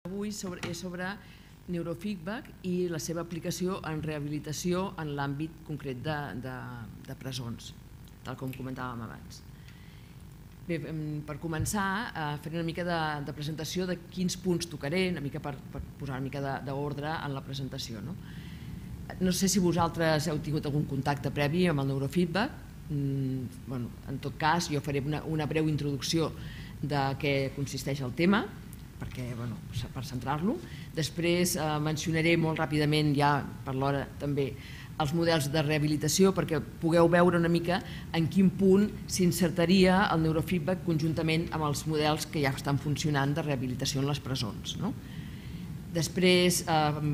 Avui és sobre neurofeedback i la seva aplicació en rehabilitació en l'àmbit concret de presons, tal com comentàvem abans. Bé, per començar, faré una mica de presentació de quins punts tocaré, una mica per posar una mica d'ordre en la presentació. No sé si vosaltres heu tingut algun contacte previ amb el neurofeedback. En tot cas, jo faré una breu introducció de què consisteix el tema, per centrar-lo. Després mencionaré molt ràpidament, ja per l'hora també, els models de rehabilitació perquè pugueu veure una mica en quin punt s'insertaria el neurofeedback conjuntament amb els models que ja estan funcionant de rehabilitació en les presons. Després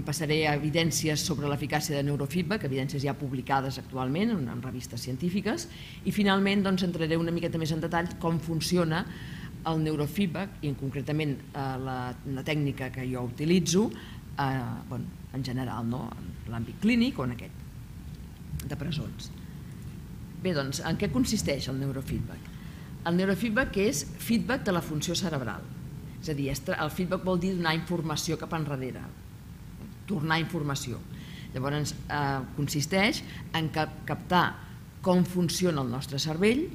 passaré a evidències sobre l'eficàcia de neurofeedback, evidències ja publicades actualment en revistes científiques, i finalment entraré una miqueta més en detall com funciona el neurofeedback i concretament la tècnica que jo utilitzo en general, en l'àmbit clínic o en aquest de presons. Bé, doncs, en què consisteix el neurofeedback? El neurofeedback és feedback de la funció cerebral. És a dir, el feedback vol dir donar informació cap enrere, tornar informació. Llavors, consisteix en captar com funciona el nostre cervell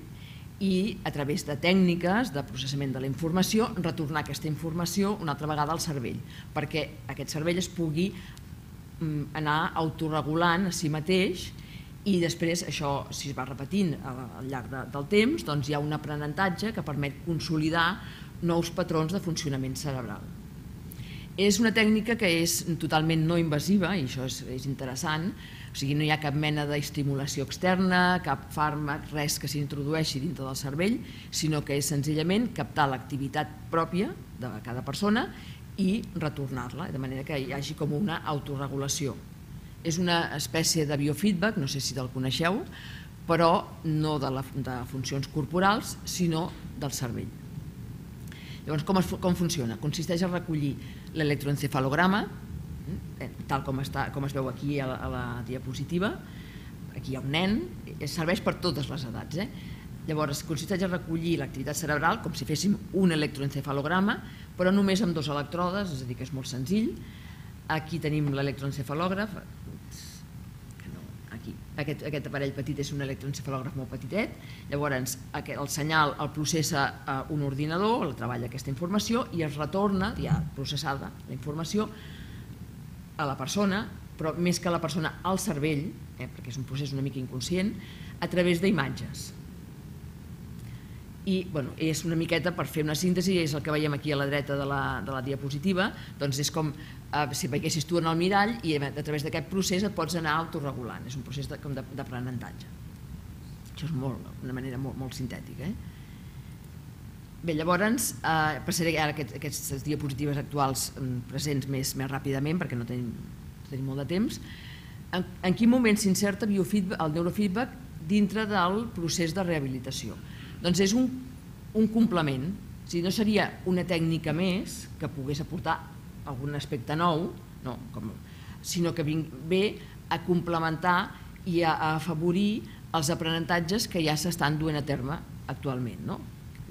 i a través de tècniques de processament de la informació retornar aquesta informació una altra vegada al cervell perquè aquest cervell es pugui anar autoregulant a si mateix i després això, si es va repetint al llarg del temps, doncs hi ha un aprenentatge que permet consolidar nous patrons de funcionament cerebral. És una tècnica que és totalment no invasiva i això és interessant, o sigui, no hi ha cap mena d'estimulació externa, cap fàrmac, res que s'introdueixi dintre del cervell, sinó que és senzillament captar l'activitat pròpia de cada persona i retornar-la, de manera que hi hagi com una autoregulació. És una espècie de biofeedback, no sé si te'l coneixeu, però no de funcions corporals, sinó del cervell. Llavors, com funciona? Consisteix a recollir l'electroencefalograma, tal com es veu aquí a la diapositiva. Aquí hi ha un nen, serveix per totes les edats. Llavors, consisteix a recollir l'activitat cerebral com si féssim un electroencefalograma, però només amb 2 elèctrodes, és a dir, que és molt senzill. Aquí tenim l'electroencefalògraf. Aquest aparell petit és un electroencefalògraf molt petitet, llavors el senyal el processa un ordinador, el treballa aquesta informació i es retorna, ja processada la informació, a la persona, però més que a la persona, al cervell, perquè és un procés una mica inconscient, a través d'imatges. I és una miqueta, per fer una síntesi, és el que veiem aquí a la dreta de la diapositiva, doncs és com si veiessis tu en el mirall i a través d'aquest procés et pots anar autoregulant, és un procés d'aprenentatge. Això és una manera molt sintètica. Bé, llavors passaré ara aquestes diapositives actuals presents més ràpidament perquè no tenim molt de temps. En quin moment s'inserta el neurofeedback dintre del procés de rehabilitació? Doncs és un complement, no seria una tècnica més que pogués aportar algun aspecte nou, sinó que ve a complementar i a afavorir els aprenentatges que ja s'estan duent a terme actualment.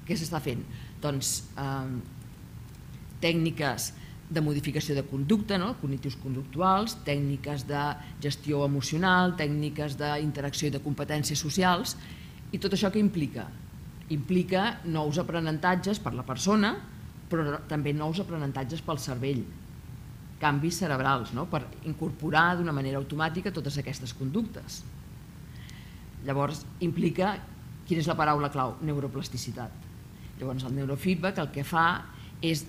Què s'està fent? Doncs tècniques de modificació de conducta, cognitius conductuals, tècniques de gestió emocional, tècniques d'interacció i de competències socials, i tot això què implica? Implica nous aprenentatges per la persona, però també nous aprenentatges pel cervell, canvis cerebrals, per incorporar d'una manera automàtica totes aquestes conductes. Llavors, implica, quina és la paraula clau? Neuroplasticitat. Llavors, el neurofeedback el que fa és,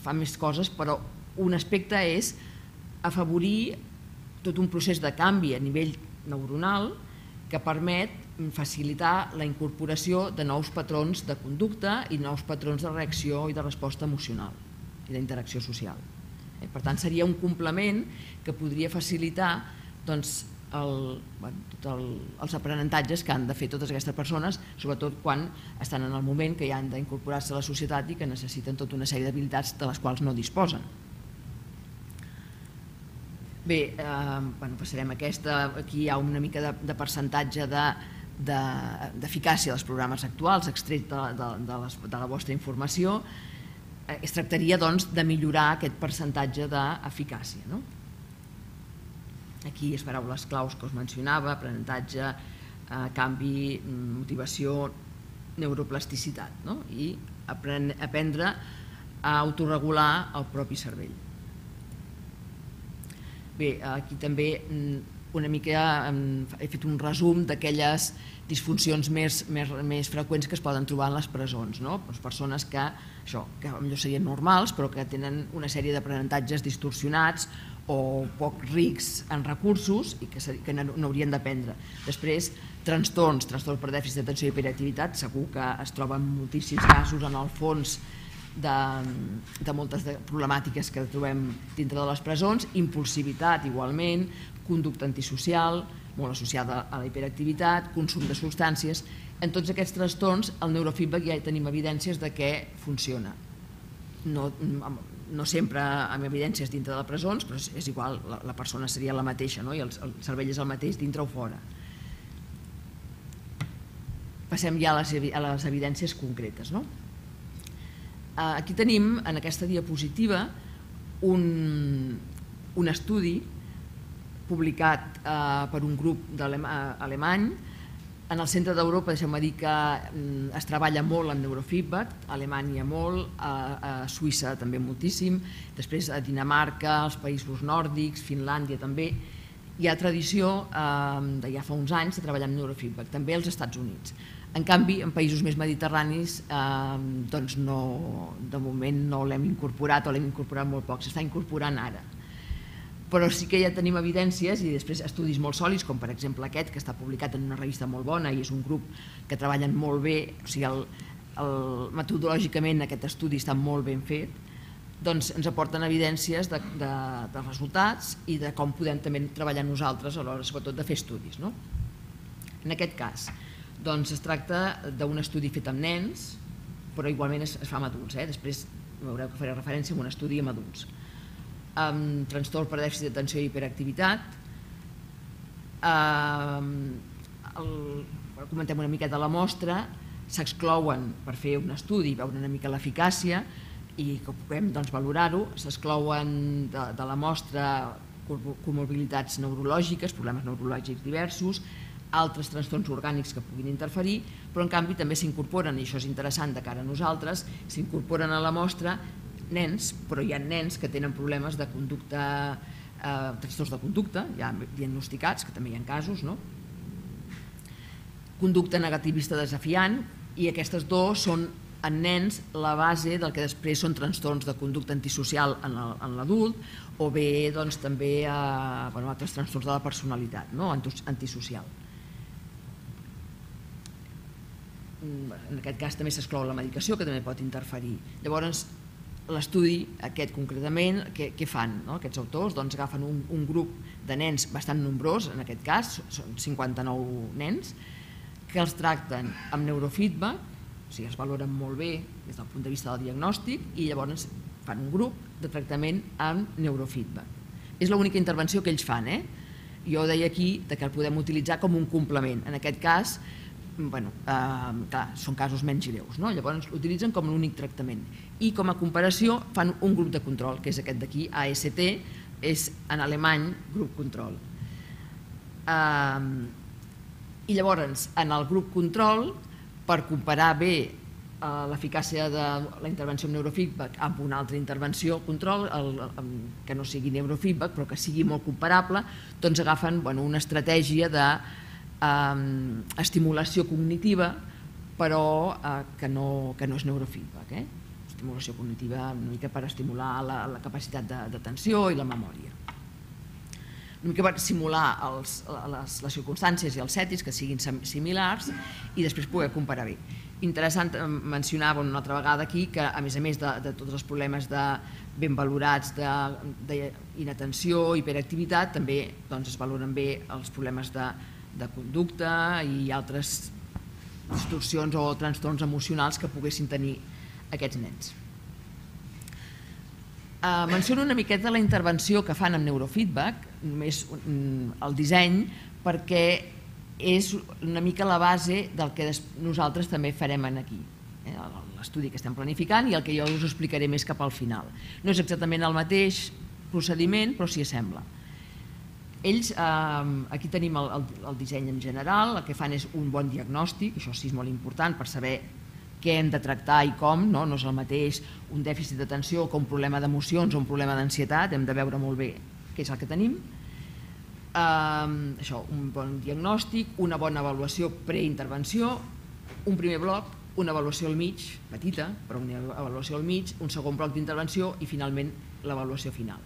fa més coses, però un aspecte és afavorir tot un procés de canvi a nivell neuronal que permet facilitar la incorporació de nous patrons de conducta i nous patrons de reacció i de resposta emocional i d'interacció social. Per tant, seria un complement que podria facilitar tots els aprenentatges que han de fer totes aquestes persones, sobretot quan estan en el moment que ja han d'incorporar-se a la societat i que necessiten tota una sèrie d'habilitats de les quals no disposen. Bé, passarem a aquesta. Aquí hi ha una mica de percentatge d'eficàcia dels programes actuals extret de la vostra informació. es tractaria de millorar aquest percentatge d'eficàcia. Aquí les paraules claus que us mencionava: aprenentatge, canvi, motivació, neuroplasticitat, i aprendre a autorregular el propi cervell. Bé, aquí també una mica he fet un resum d'aquelles disfuncions més freqüents que es poden trobar en les presons. Persones que potser serien normals però que tenen una sèrie d'aprenentatges distorsionats o poc rics en recursos i que no haurien d'aprendre. Després, trastorns per dèficit d'atenció i hiperactivitat, segur que es troben moltíssims casos en el fons de moltes problemàtiques que trobem dintre de les presons. Impulsivitat igualment, conducta antisocial, molt associada a la hiperactivitat, consum de substàncies. En tots aquests trastorns el neurofeedback ja tenim evidències de que funciona. No sempre amb evidències dintre de presons, però és igual, la persona seria la mateixa i el cervell és el mateix dintre o fora. Passem ja a les evidències concretes. Aquí tenim en aquesta diapositiva un estudi publicat per un grup alemany. En el centre d'Europa, deixeu-me dir que es treballa molt en neurofeedback, a Alemanya molt, a Suïssa també moltíssim, després a Dinamarca, als països nòrdics, Finlàndia també. Hi ha tradició de ja fa uns anys de treballar amb neurofeedback, també als Estats Units. En canvi, en països més mediterranis, de moment no l'hem incorporat o l'hem incorporat molt poc, s'està incorporant ara. Però sí que ja tenim evidències i després estudis molt sòlids, com per exemple aquest, que està publicat en una revista molt bona i és un grup que treballen molt bé, o sigui, metodològicament aquest estudi està molt ben fet, doncs ens aporten evidències dels resultats i de com podem també treballar nosaltres a l'hora, sobretot, de fer estudis. En aquest cas, es tracta d'un estudi fet amb nens, però igualment es fa amb adults. Després veureu que faré referència a un estudi amb adults. Amb trastorn per dèficit d'atenció i hiperactivitat. Comentem una miqueta la mostra, s'exclouen per fer un estudi, veure una mica l'eficàcia i que puguem valorar-ho, s'exclouen de la mostra comorbilitats neurològiques, problemes neurològics diversos, altres trastorns orgànics que puguin interferir, però en canvi també s'incorporen, i això és interessant de cara a nosaltres, s'incorporen a la mostra nens, però hi ha nens que tenen problemes de conducta, trastorns de conducta, ja diagnosticats, que també hi ha casos, conducta negativista desafiant, i aquestes dues són en nens la base del que després són trastorns de conducta antisocial en l'adult o bé també altres trastorns de la personalitat antisocial. En aquest cas també s'exclou la medicació, que també pot interferir. Llavors, l'estudi aquest concretament, què fan aquests autors? Doncs agafen un grup de nens bastant nombrós, en aquest cas són 59 nens, que els tracten amb neurofeedback, o sigui, els valoren molt bé des del punt de vista del diagnòstic, i llavors fan un grup de tractament amb neurofeedback. És l'única intervenció que ells fan. Jo deia aquí que el podem utilitzar com un complement. En aquest cas, són casos menys greus, llavors l'utilitzen com l'únic tractament. I com a comparació fan un grup de control, que és aquest d'aquí, AST, és en alemany grup control. I llavors, en el grup control, per comparar bé l'eficàcia de la intervenció amb neurofeedback amb una altra intervenció control, que no sigui neurofeedback però que sigui molt comparable, doncs agafen una estratègia d'estimulació cognitiva però que no és neurofeedback. Estimulació cognitiva una mica per estimular la capacitat d'atenció i la memòria. Una mica per simular les circumstàncies i els settings que siguin similars i després poder comparar bé. Interessant mencionar una altra vegada aquí que a més de tots els problemes ben valorats d'inatenció, hiperactivitat, també es valoren bé els problemes de conducta i altres distorsions o trastorns emocionals que poguessin tenir aquests nens. Menciono una miqueta la intervenció que fan amb neurofeedback, només el disseny, perquè és una mica la base del que nosaltres també farem aquí. l'estudi que estem planificant i el que jo us explicaré més cap al final. No és exactament el mateix procediment, però s'hi assembla. Ells, aquí tenim el disseny en general, el que fan és un bon diagnòstic, això sí és molt important per saber què hem de tractar i com, no és el mateix un dèficit d'atenció que un problema d'emocions o un problema d'ansietat, hem de veure molt bé què és el que tenim. Això, un bon diagnòstic, una bona avaluació preintervenció, un primer bloc, una avaluació al mig, petita, però una avaluació al mig, un segon bloc d'intervenció i finalment l'avaluació final.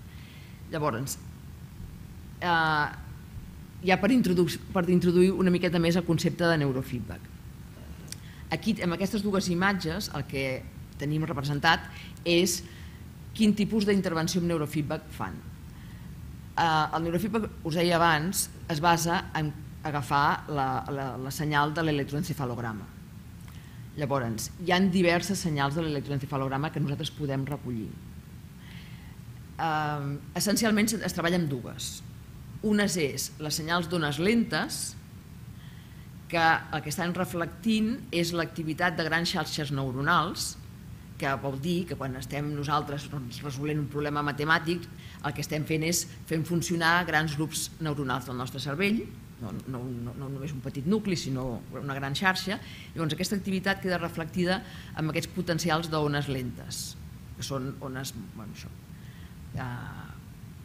Llavors, ja per introduir una miqueta més el concepte de neurofeedback. Aquí, amb aquestes dues imatges, el que tenim representat és quin tipus d'intervenció amb neurofeedback fan. El neurofeedback, us deia abans, es basa en agafar la senyal de l'electroencefalograma. Llavors, hi ha diverses senyals de l'electroencefalograma que nosaltres podem recollir. Essencialment es treballa amb dues. Unes és les senyals d'ones lentes, que el que estan reflectint és l'activitat de grans xarxes neuronals, que vol dir que quan estem nosaltres resolent un problema matemàtic, el que estem fent és fent funcionar grans grups neuronals del nostre cervell, no només un petit nucli, sinó una gran xarxa. Llavors aquesta activitat queda reflectida amb aquests potencials d'ones lentes, que són ones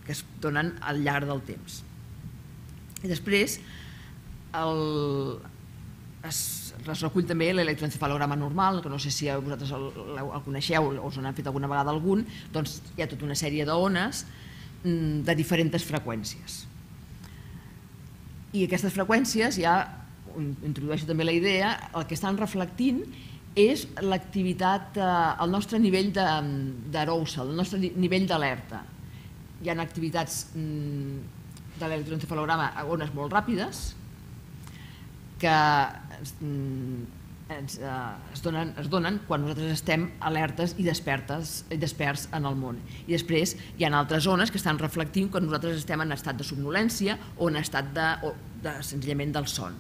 que es donen al llarg del temps. I després es recull també l'electroencefalograma normal, que no sé si vosaltres el coneixeu o us n'han fet alguna vegada algun, doncs hi ha tota una sèrie d'ones de diferents freqüències. I aquestes freqüències, ja introdueixo també la idea, el que estan reflectint és l'activitat, el nostre nivell d'arousal, el nostre nivell d'alerta. Hi ha activitats de l'electroencefalograma a ones molt ràpides que es donen quan nosaltres estem alertes i desperts en el món. I després hi ha altres zones que estan reflectint quan nosaltres estem en estat de somnolència o en estat senzillament del son.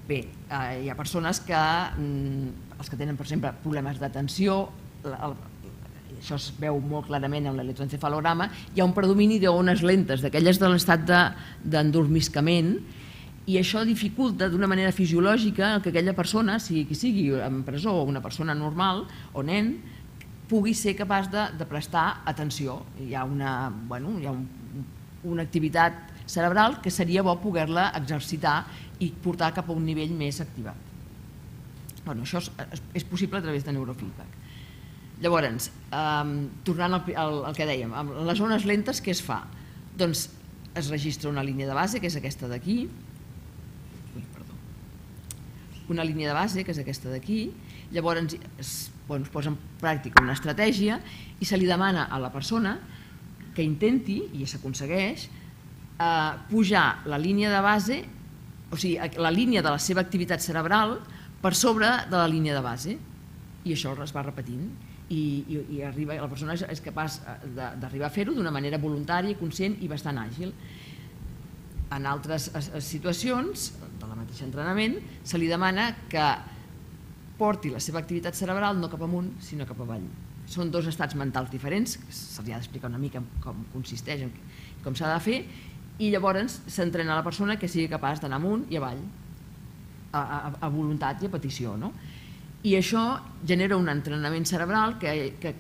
Bé, hi ha persones que, els que tenen, per exemple, problemes d'atenció, això es veu molt clarament en l'electroencefalograma, hi ha un predomini d'ones lentes, d'aquelles de l'estat d'endormiscament, i això dificulta d'una manera fisiològica que aquella persona, sigui qui sigui, en presó o una persona normal o nen, pugui ser capaç de prestar atenció. Hi ha una activitat cerebral que seria bo poder-la exercitar i portar cap a un nivell més activat. Això és possible a través de neurofeedback. Llavors, tornant al que dèiem, amb les ones lentes què es fa? Doncs es registra una línia de base, que és aquesta d'aquí, una línia de base, que és aquesta d'aquí, llavors es posa en pràctica una estratègia i se li demana a la persona que intenti, i s'aconsegueix, pujar la línia de base, o sigui, la línia de la seva activitat cerebral per sobre de la línia de base, i això es va repetint, i la persona és capaç d'arribar a fer-ho d'una manera voluntària, conscient i bastant àgil. En altres situacions, de la mateixa entrenament, se li demana que porti la seva activitat cerebral no cap amunt, sinó cap avall. Són dos estats mentals diferents, se li ha d'explicar una mica com consisteix, com s'ha de fer, i llavors s'entrena la persona que sigui capaç d'anar amunt i avall, a voluntat i a petició. I això genera un entrenament cerebral que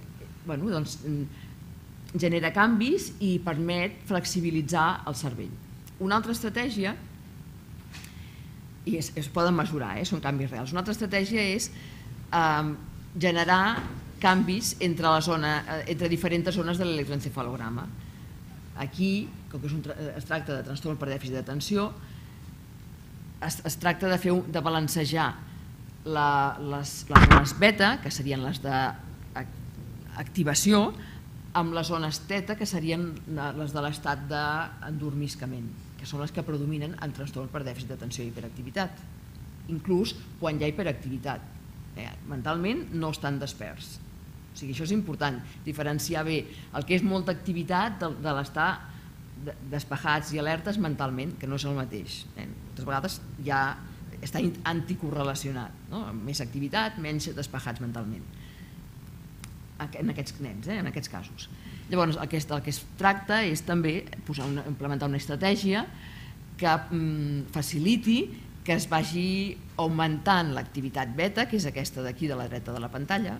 genera canvis i permet flexibilitzar el cervell. Una altra estratègia, i es poden mesurar, són canvis reals, una altra estratègia és generar canvis entre diferents zones de l'electroencefalograma. Aquí, com que es tracta de trastorn per dèficit d'atenció, es tracta de balancejar les zones beta, que serien les d'activació, amb les zones teta, que serien les de l'estat d'endormiscament, que són les que predominen en trastorn per dèficit d'atenció i hiperactivitat, inclús quan hi ha hiperactivitat. Mentalment no estan desperts. O sigui, això és important, diferenciar bé el que és molta activitat de l'estar despejats i alertes mentalment, que no és el mateix. Moltes vegades hi ha està anticorrelacionat, més activitat, menys despejats mentalment, en aquests nens, en aquests casos. Llavors, el que es tracta és també implementar una estratègia que faciliti que es vagi augmentant l'activitat beta, que és aquesta d'aquí de la dreta de la pantalla,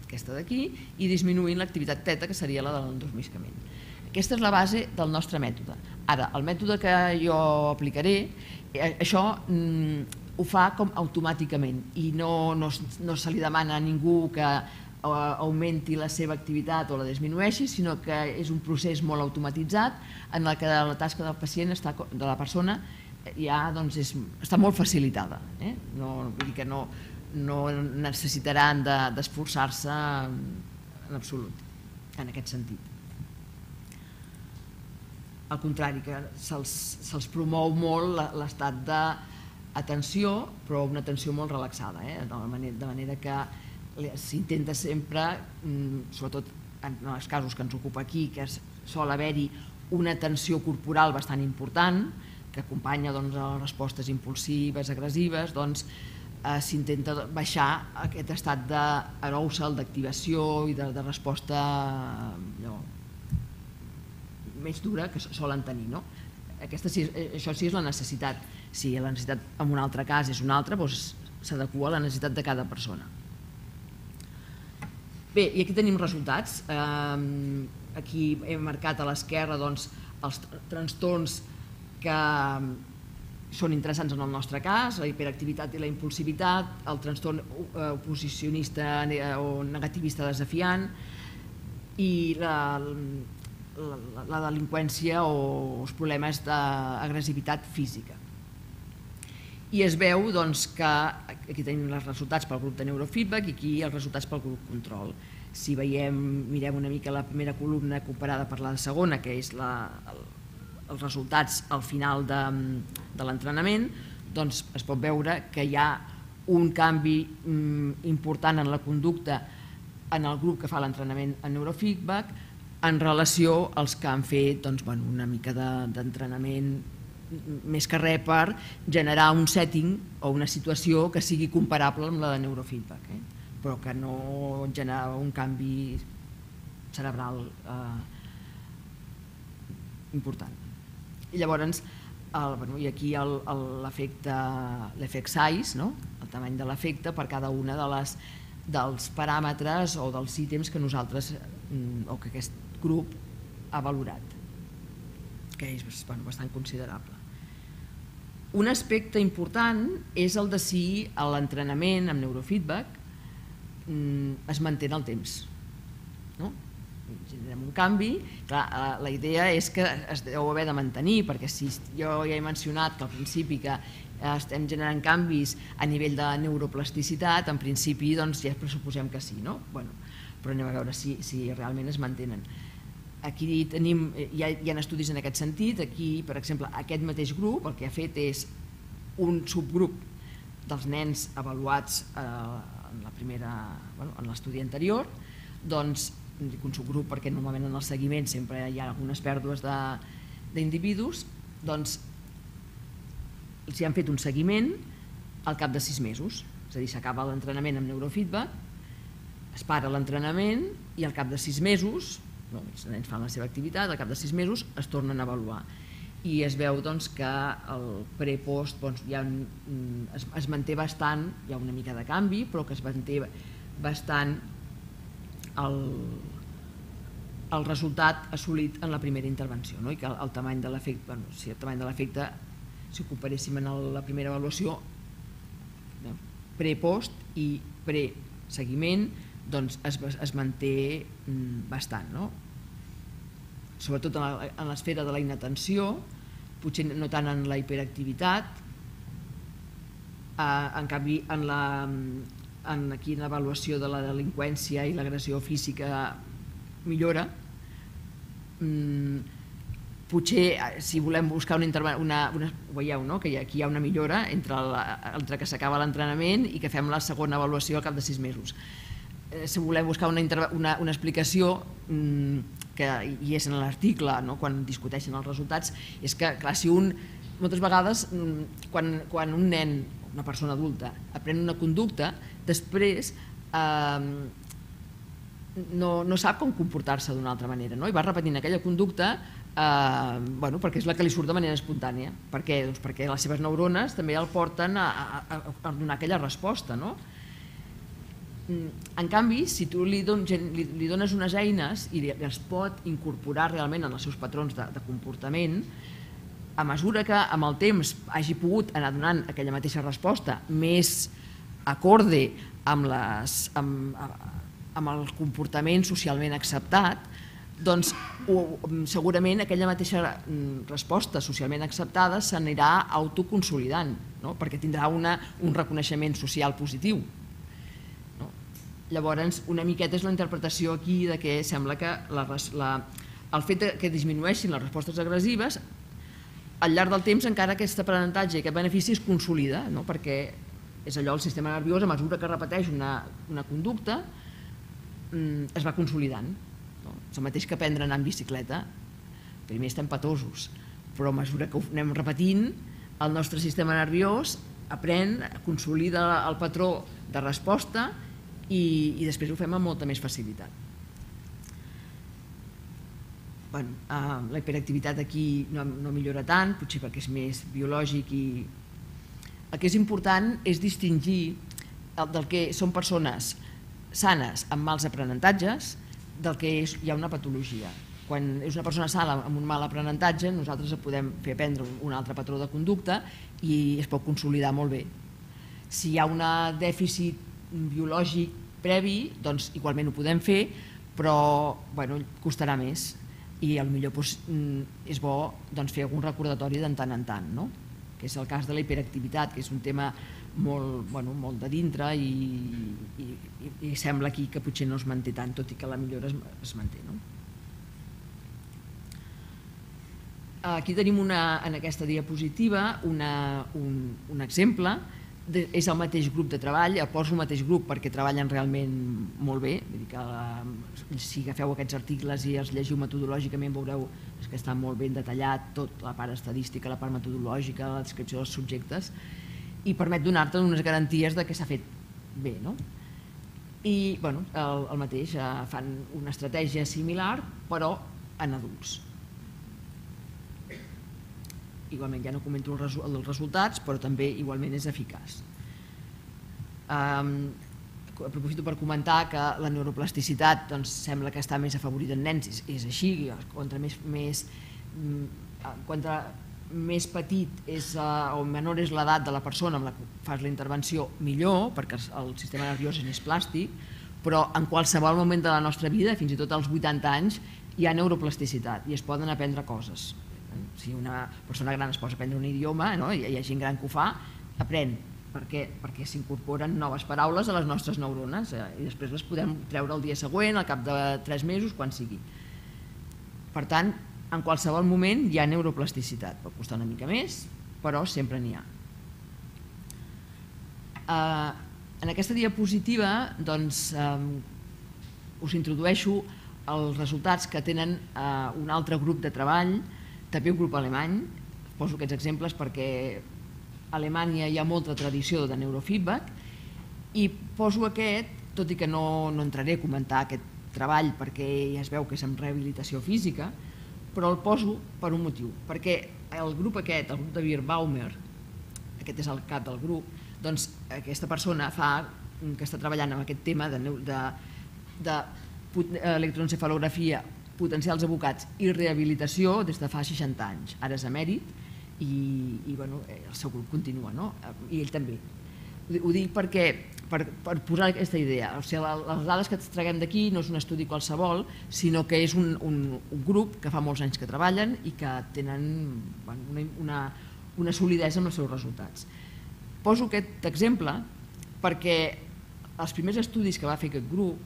aquesta d'aquí, i disminuint l'activitat teta, que seria la de l'endormiscament. Aquesta és la base del nostre mètode. Ara, el mètode que jo aplicaré, això ho fa com automàticament i no se li demana a ningú que augmenti la seva activitat o la disminueixi, sinó que és un procés molt automatitzat en el que la tasca del pacient, de la persona, ja està molt facilitada. Vull dir que no necessitaran d'esforçar-se en absolut, en aquest sentit. Al contrari, que se'ls promou molt l'estat d'atenció, però una atenció molt relaxada, de manera que s'intenta sempre, sobretot en els casos que ens ocupa aquí, que sol haver-hi una tensió corporal bastant important, que acompanya les respostes impulsives, agressives, s'intenta baixar aquest estat d'arousal, d'activació i de resposta més dura que solen tenir. Això sí és la necessitat. Si la necessitat en un altre cas és una altra, s'adequa a la necessitat de cada persona. Bé, i aquí tenim resultats. Aquí hem marcat a l'esquerra els trastorns que són interessants en el nostre cas, la hiperactivitat i la impulsivitat, el trastorn oposicionista o negativista desafiant i la delinqüència o els problemes d'agressivitat física. I es veu que aquí tenim els resultats pel grup de neurofeedback i aquí els resultats pel grup control. Si mirem una mica la primera columna comparada per la segona, que és els resultats al final de l'entrenament, doncs es pot veure que hi ha un canvi important en la conducta en el grup que fa l'entrenament en neurofeedback en relació als que han fet una mica d'entrenament més que res per generar un setting o una situació que sigui comparable amb la de neurofeedback, però que no genera un canvi cerebral important. I llavors, i aquí l'efecte size, el tamany de l'efecte per cada una dels paràmetres o dels ítems que nosaltres o que aquest grup ha valorat, que és bastant considerable. Un aspecte important és el de si l'entrenament amb neurofeedback es manté en el temps. Generem un canvi, la idea és que es deu haver de mantenir, perquè si jo ja he mencionat que al principi que estem generant canvis a nivell de neuroplasticitat, en principi ja pressuposem que sí, però anem a veure si realment es mantenen. Aquí hi ha estudis en aquest sentit. Aquí, per exemple, aquest mateix grup el que ha fet és un subgrup dels nens avaluats en l'estudi anterior, dic un subgrup perquè normalment en el seguiment sempre hi ha algunes pèrdues d'individus, els han fet un seguiment al cap de 6 mesos, és a dir, s'acaba l'entrenament amb neurofeedback, es para l'entrenament i al cap de 6 mesos els nens fan la seva activitat, al cap de 6 mesos es tornen a avaluar i es veu que el pre-post es manté bastant, hi ha una mica de canvi, però que es manté bastant el resultat assolit en la primera intervenció, i que el tamany de l'efecte, si ho comparéssim en la primera avaluació, pre-post i pre-seguiment, es manté bastant, sobretot en l'esfera de la inatenció, potser no tant en la hiperactivitat, en canvi aquí en l'avaluació de la delinqüència i l'agressió física millora. Potser si volem buscar veieu que aquí hi ha una millora entre que s'acaba l'entrenament i que fem la segona avaluació al cap de 6 mesos. Si volem buscar una explicació, que hi és en l'article quan discuteixen els resultats, és que clar, si un moltes vegades, quan un nen, una persona adulta, aprèn una conducta, després no sap com comportar-se d'una altra manera, i va repetint aquella conducta perquè és la que li surt de manera espontània. Per què? Doncs perquè les seves neurones també el porten a donar aquella resposta. En canvi, si tu li dones unes eines i les pot incorporar realment en els seus patrons de comportament, a mesura que amb el temps hagi pogut anar donant aquella mateixa resposta més acorde amb el comportament socialment acceptat, doncs segurament aquella mateixa resposta socialment acceptada s'anirà autoconsolidant, perquè tindrà un reconeixement social positiu. Llavors, una miqueta és la interpretació aquí de que sembla que el fet que disminueixin les respostes agressives, al llarg del temps encara aquest aprenentatge i aquest benefici es consolida, perquè és allò, el sistema nerviós, a mesura que repeteix una conducta, es va consolidant. És el mateix que aprendre a anar en bicicleta. Primer estem patosos, però a mesura que ho anem repetint, el nostre sistema nerviós aprèn, consolida el patró de resposta i després ho fem amb molta més facilitat. La hiperactivitat aquí no millora tant, potser perquè és més biològic, i el que és important és distingir del que són persones sanes amb mals aprenentatges del que hi ha una patologia. Quan és una persona sana amb un mal aprenentatge, nosaltres podem fer aprendre un altre patró de conducta i es pot consolidar molt bé. Si hi ha un dèficit biològic previ, doncs igualment ho podem fer, però costarà més i potser és bo fer algun recordatori de tant en tant, que és el cas de la hiperactivitat, que és un tema molt de dintre i sembla aquí que potser no es manté tant, tot i que la millora es manté. Aquí tenim en aquesta diapositiva un exemple, és el mateix grup de treball, poso el mateix grup perquè treballen realment molt bé, si agafeu aquests articles i els llegiu metodològicament veureu que està molt ben detallat tot, la part estadística, la part metodològica, la descripció dels subjectes, i permet donar-te unes garanties que s'ha fet bé. I el mateix, fan una estratègia similar però en adults. Igualment ja no comento els resultats, però també igualment és eficaç. Aprofito per comentar que la neuroplasticitat sembla que està més afavorida en nens, és així, contra més petit o menor és l'edat de la persona amb la que fas la intervenció, millor, perquè el sistema nerviós és més plàstic, però en qualsevol moment de la nostra vida, fins i tot als 80 anys, hi ha neuroplasticitat i es poden aprendre coses. Si una persona gran es posa a aprendre un idioma, hi ha gent gran que ho fa, aprèn. Per què? Perquè s'incorporen noves paraules a les nostres neurones i després les podem treure el dia següent, al cap de 3 mesos, quan sigui. Per tant, en qualsevol moment hi ha neuroplasticitat. Pot costar una mica més, però sempre n'hi ha. En aquesta diapositiva us introdueixo els resultats que tenen un altre grup de treball, també un grup alemany. Poso aquests exemples perquè a Alemanya hi ha molta tradició de neurofeedback i poso aquest, tot i que no entraré a comentar aquest treball perquè ja es veu que és en rehabilitació física, però el poso per un motiu, perquè el grup aquest, el grup de Bierbaumer, aquest és el cap del grup, doncs aquesta persona que està treballant amb aquest tema d'electroencefalografia, potencials evocats i rehabilitació des de fa 60 anys. Ara és emèrit i el seu grup continua, i ell també. Ho dic perquè, per posar aquesta idea, les dades que traguem d'aquí no és un estudi qualsevol, sinó que és un grup que fa molts anys que treballen i que tenen una solidesa amb els seus resultats. Poso aquest exemple perquè els primers estudis que va fer aquest grup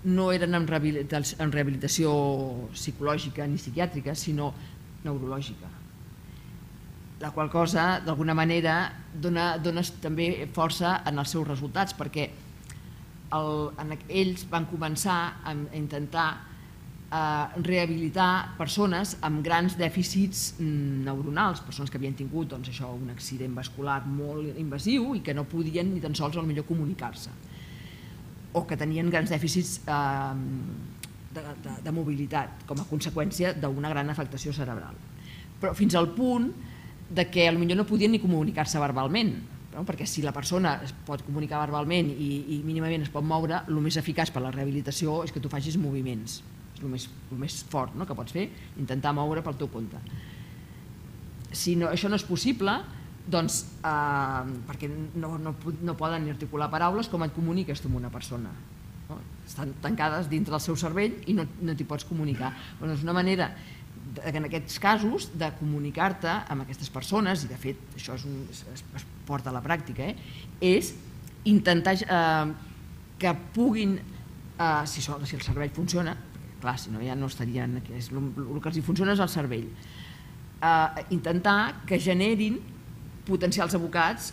no eren en rehabilitació psicològica ni psiquiàtrica, sinó neurològica. La qual cosa, d'alguna manera, dona també força en els seus resultats, perquè ells van començar a intentar rehabilitar persones amb grans dèficits neuronals, persones que havien tingut un accident vascular molt invasiu i que no podien ni tan sols potser comunicar-se, o que tenien grans dèficits de mobilitat com a conseqüència d'una gran afectació cerebral, però fins al punt que potser no podien ni comunicar-se verbalment, perquè si la persona es pot comunicar verbalment i mínimament es pot moure, el més eficaç per a la rehabilitació és que tu facis moviments, és el més fort que pots fer, intentar moure pel teu compte. Si això no és possible, doncs perquè no poden ni articular paraules, com et comuniques tu amb una persona? Estan tancades dintre del seu cervell i no t'hi pots comunicar. És una manera, en aquests casos, de comunicar-te amb aquestes persones, i de fet això es porta a la pràctica, és intentar que puguin, si el cervell funciona, clar, si no ja no estarien aquí, el que els funciona és el cervell, intentar que generin potencials abocats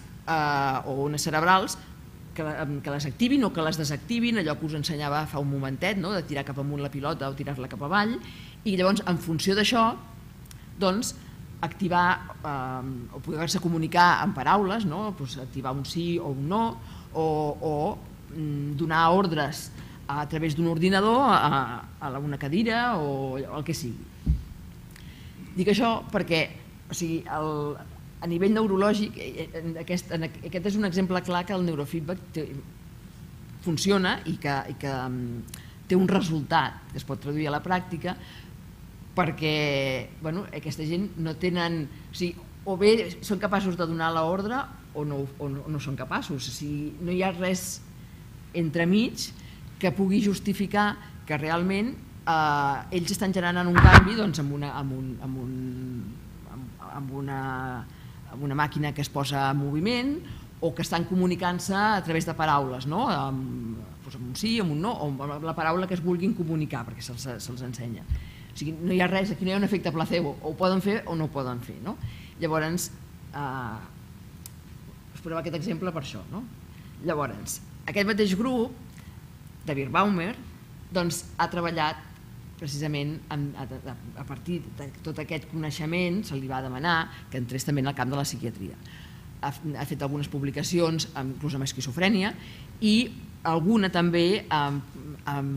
o ones cerebrals que les activin o que les desactivin, allò que us ensenyava fa un momentet, de tirar cap amunt la pilota o tirar-la cap avall, i llavors en funció d'això activar o poder-se comunicar amb paraules, activar un sí o un no, o donar ordres a través d'un ordinador a una cadira o el que sigui. Dic això perquè a nivell neurològic aquest és un exemple clar que el neurofeedback funciona i que té un resultat que es pot traduir a la pràctica, perquè aquesta gent no tenen, o bé són capaços de donar l'ordre o no són capaços, no hi ha res entremig que pugui justificar que realment ells estan generant un canvi amb una màquina que es posa en moviment o que estan comunicant-se a través de paraules, amb un sí, amb un no, o amb la paraula que es vulguin comunicar, perquè se'ls ensenya. O sigui, no hi ha res, aquí no hi ha un efecte placebo, o ho poden fer o no ho poden fer. Llavors, us posava aquest exemple per això. Llavors, aquest mateix grup de Birbaumer ha treballat precisament a partir de tot aquest coneixement, se li va demanar que entrés també en el camp de la psiquiatria. Ha fet algunes publicacions, inclús amb esquizofrènia, i alguna també amb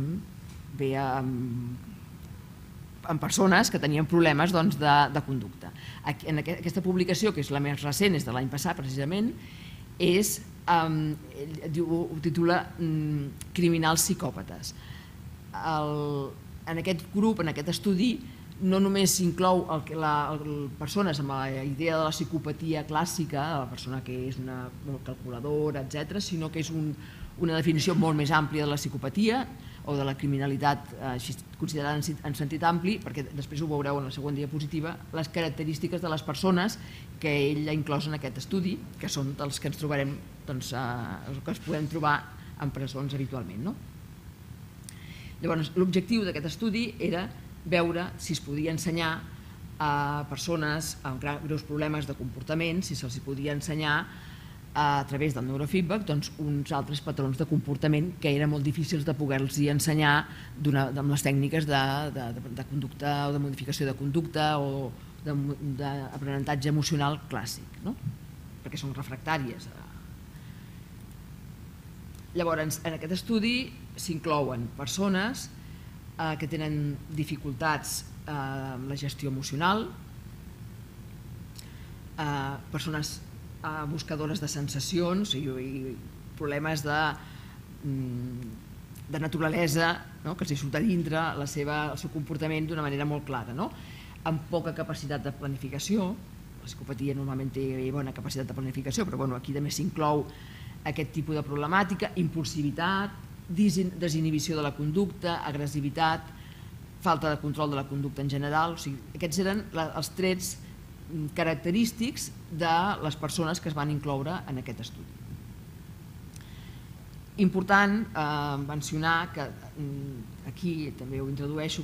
persones que tenien problemes de conducta. Aquesta publicació, que és la més recent, és de l'any passat precisament, ho titula Criminals psicòpates. En aquest grup, en aquest estudi, no només s'inclou persones amb la idea de la psicopatia clàssica, de la persona que és una molt calculadora, etc., sinó que és una definició molt més àmplia de la psicopatia o de la criminalitat considerada en sentit ampli, perquè després ho veureu en la següent diapositiva, les característiques de les persones que ell ha inclòs en aquest estudi, que són els que ens trobarem, que es podem trobar en presons habitualment. Llavors, l'objectiu d'aquest estudi era veure si es podia ensenyar a persones amb greus problemes de comportament, si se'ls podia ensenyar a través del neurofeedback uns altres patrons de comportament que eren molt difícils de poder-los ensenyar amb les tècniques de conducta o de modificació de conducta o d'aprenentatge emocional clàssic, perquè són refractàries. Llavors, en aquest estudi s'inclouen persones que tenen dificultats amb la gestió emocional, persones buscadores de sensacions i problemes de naturalesa que els surt a dintre el seu comportament d'una manera molt clara, amb poca capacitat de planificació. La psicopatia normalment té bona capacitat de planificació, però aquí també s'inclou aquest tipus de problemàtica, impulsivitat, desinhibició de la conducta, agressivitat, falta de control de la conducta en general. Aquests eren els trets característics de les persones que es van incloure en aquest estudi. Important mencionar que aquí també ho introdueixo,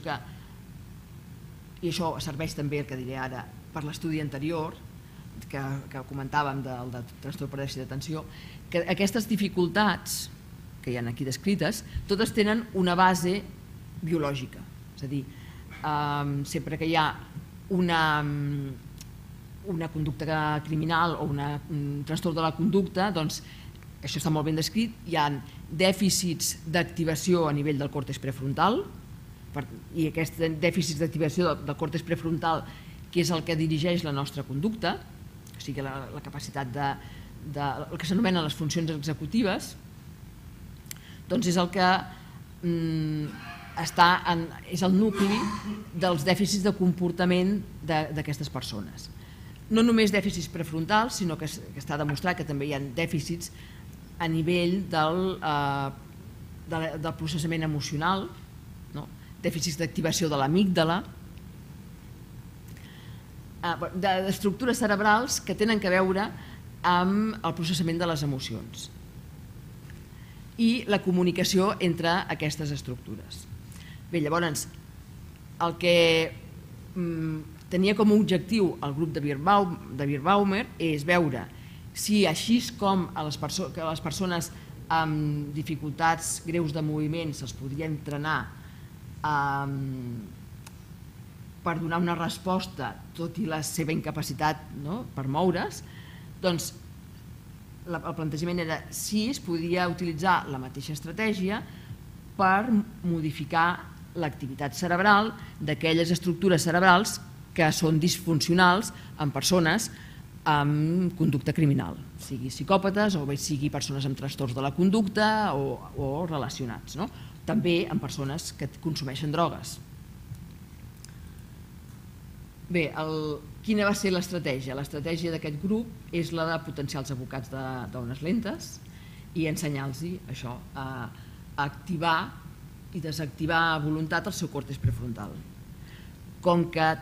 i això serveix també, el que diré ara, per l'estudi anterior que comentàvem del trastorn per dèficit d'atenció, que aquestes dificultats que hi ha aquí descrites totes tenen una base biològica. És a dir, sempre que hi ha una conducta criminal o un trastorn de la conducta, doncs això està molt ben descrit, hi ha dèficits d'activació a nivell del còrtex prefrontal, i aquests dèficits d'activació del còrtex prefrontal, que és el que dirigeix la nostra conducta, o sigui, la capacitat el que s'anomenen les funcions executives, doncs és el que és el nucli dels dèficits de comportament d'aquestes persones. No només dèficits prefrontals, sinó que està demostrat que també hi ha dèficits a nivell del processament emocional, dèficits d'activació de l'amígdala, d'estructures cerebrals que tenen a veure amb el processament de les emocions i la comunicació entre aquestes estructures. Bé, llavors, el que tenia com a objectiu el grup de Birbaumer és veure si així com a les persones amb dificultats greus de moviment se'ls podria entrenar per donar una resposta, tot i la seva incapacitat per moure's, doncs el plantejament era si es podia utilitzar la mateixa estratègia per modificar l'activitat cerebral d'aquelles estructures cerebrals que són disfuncionals en persones amb conducta criminal, sigui psicòpates o bé sigui persones amb trastorns de la conducta o relacionats, també en persones que consumeixen drogues. Bé, quina va ser l'estratègia? L'estratègia d'aquest grup és la de potenciar els abocats d'ones lentes i ensenyar-los això, a activar i desactivar a voluntat el seu còrtex prefrontal. Com que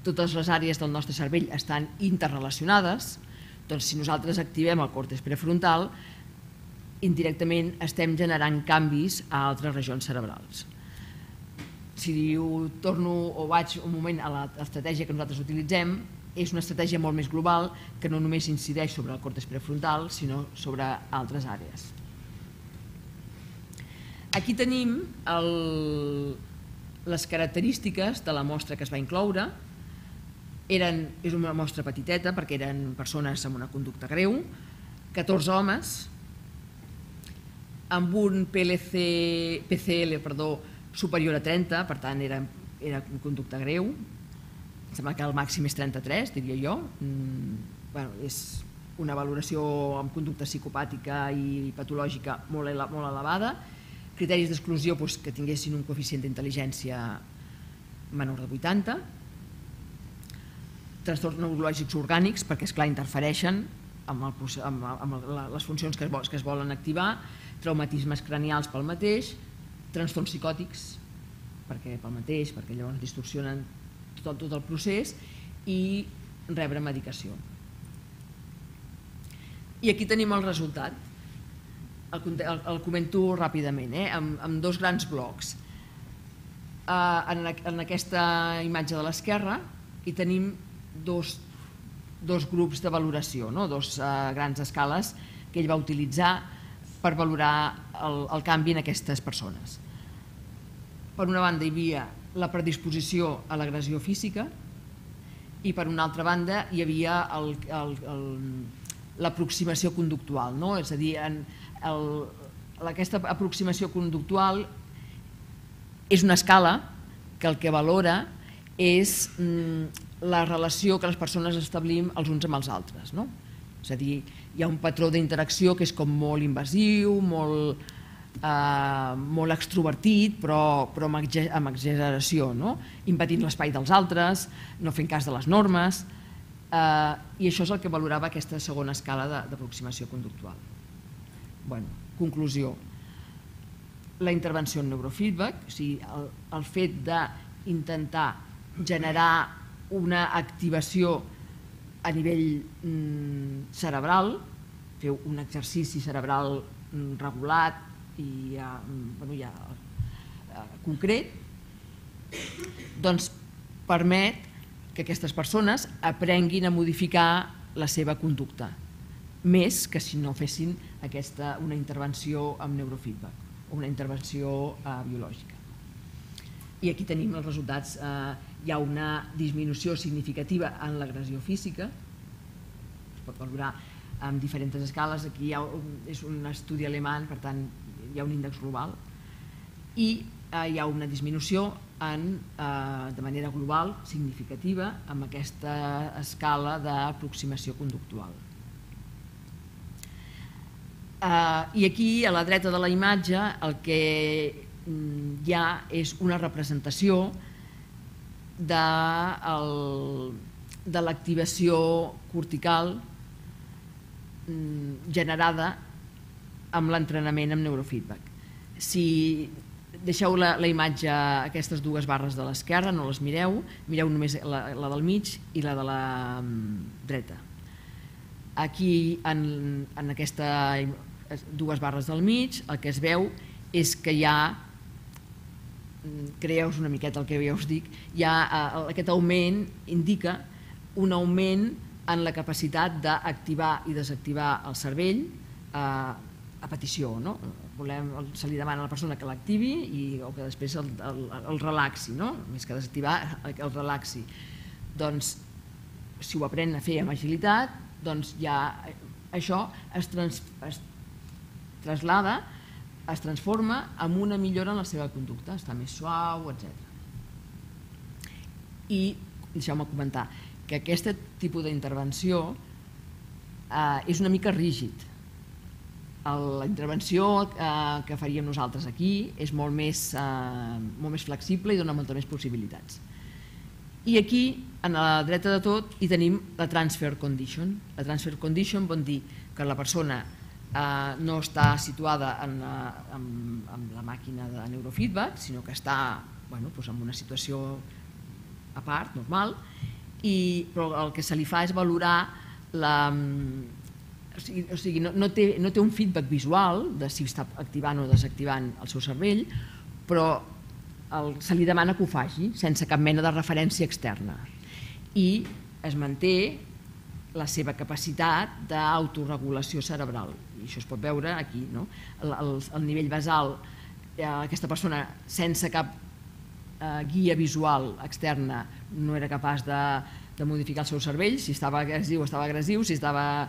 totes les àrees del nostre cervell estan interrelacionades, doncs si nosaltres activem el còrtex prefrontal, indirectament estem generant canvis a altres regions cerebrals. Si torno o vaig un moment a l'estratègia que nosaltres utilitzem, és una estratègia molt més global que no només incideix sobre el còrtex prefrontal, sinó sobre altres àrees. Aquí tenim les característiques de la mostra que es va incloure. És una mostra petiteta perquè eren persones amb una conducta greu, 14 homes, amb un PCL superior a 30, per tant era conducta greu, em sembla que el màxim és 33, diria jo. És una valoració amb conducta psicopàtica i patològica molt elevada, criteris d'exclusió que tinguessin un coeficient d'intel·ligència menor de 80, trastorns neurològics orgànics, perquè esclar interfereixen amb les funcions que es volen activar, traumatismes cranials pel mateix, trastorns psicòtics pel mateix, perquè llavors distorsionen tot el procés, i rebre medicació. I aquí tenim el resultat. El comento ràpidament, amb dos grans blocs. En aquesta imatge de l'esquerra hi tenim dos grups de valoració, dos grans escales que ell va utilitzar per valorar el canvi en aquestes persones. Per una banda hi havia la predisposició a l'agressió física i per una altra banda hi havia l'aproximació conductual, és a dir, aquesta aproximació conductual és una escala que el que valora és la relació que les persones establim els uns amb els altres. És a dir, hi ha un patró d'interacció que és com molt invasiu, molt extrovertit, però amb exageració, impedint l'espai dels altres, no fent cas de les normes, i això és el que valorava aquesta segona escala d'aproximació conductual. Conclusió. La intervenció en neurofeedback, o sigui, el fet d'intentar generar una activació a nivell cerebral, fer un exercici cerebral regulat i concret, doncs permet que aquestes persones aprenguin a modificar la seva conducta, més que si no fessin una intervenció amb neurofeedback o una intervenció biològica. I aquí tenim els resultats. Hi ha una disminució significativa en l'agressió física, es pot valorar amb diferents escales. Aquí és un estudi alemany, per tant hi ha un índex global, i hi ha una disminució de manera global significativa amb aquesta escala d'aproximació conductual. I aquí a la dreta de la imatge el que hi ha és una representació de l'activació cortical generada amb l'entrenament amb neurofeedback. Si deixeu la imatge, aquestes dues barres de l'esquerra, no les mireu, mireu només la del mig i la de la dreta. Aquí, en aquestes dues barres del mig, el que es veu és que hi ha, creeu-vos una miqueta el que ja us dic, aquest augment indica un augment en la capacitat d'activar i desactivar el cervell a petició. Se li demana a la persona que l'activi o que després el relaxi, més que desactivar, el relaxi. Doncs, si ho aprèn a fer amb agilitat, doncs ja això es traslada, es transforma en una millora en la seva conducta, està més suau, etc. I deixeu-me comentar que aquest tipus d'intervenció és una mica rígid. La intervenció que faríem nosaltres aquí és molt més flexible i dona moltes més possibilitats. I aquí, a la dreta de tot, hi tenim la transfer condition. La transfer condition vol dir que la persona no està situada en la màquina de neurofeedback, sinó que està en una situació a part, normal, però el que se li fa és valorar o sigui, no té un feedback visual de si està activant o desactivant el seu cervell, però se li demana que ho faci sense cap mena de referència externa i es manté la seva capacitat d'autoregulació cerebral. I això es pot veure aquí, el nivell basal, aquesta persona sense cap guia visual externa no era capaç de modificar el seu cervell, si estava agressiu, si estava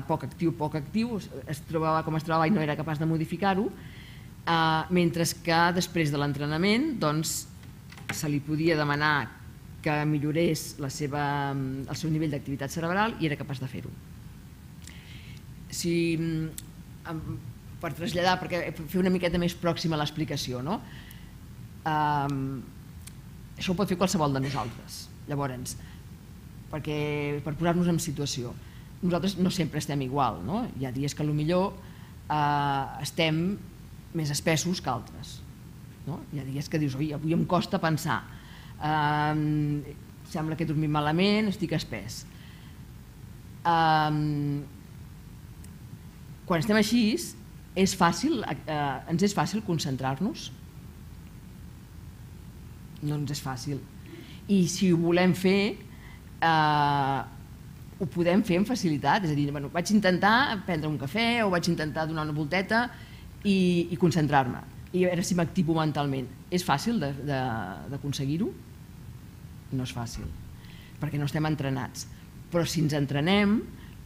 poc actiu, es trobava com es trobava i no era capaç de modificar-ho, mentre que després de l'entrenament se li podia demanar que millorés el seu nivell d'activitat cerebral i era capaç de fer-ho. Per traslladar, perquè fer una miqueta més pròxima a l'explicació, això ho pot fer qualsevol de nosaltres. Llavors, per posar-nos en situació, nosaltres no sempre estem igual, hi ha dies que potser estem més espessos que altres. Hi ha dies que dius, avui em costa pensar, sembla que he dormit malament, estic espès. Quan estem així, ens és fàcil concentrar-nos? No ens és fàcil. I si ho volem fer, ho podem fer amb facilitat. És a dir, vaig intentar prendre un cafè o vaig intentar donar una volteta i concentrar-me i a veure si m'activo mentalment. És fàcil d'aconseguir-ho? No és fàcil, perquè no estem entrenats. Però si ens entrenem,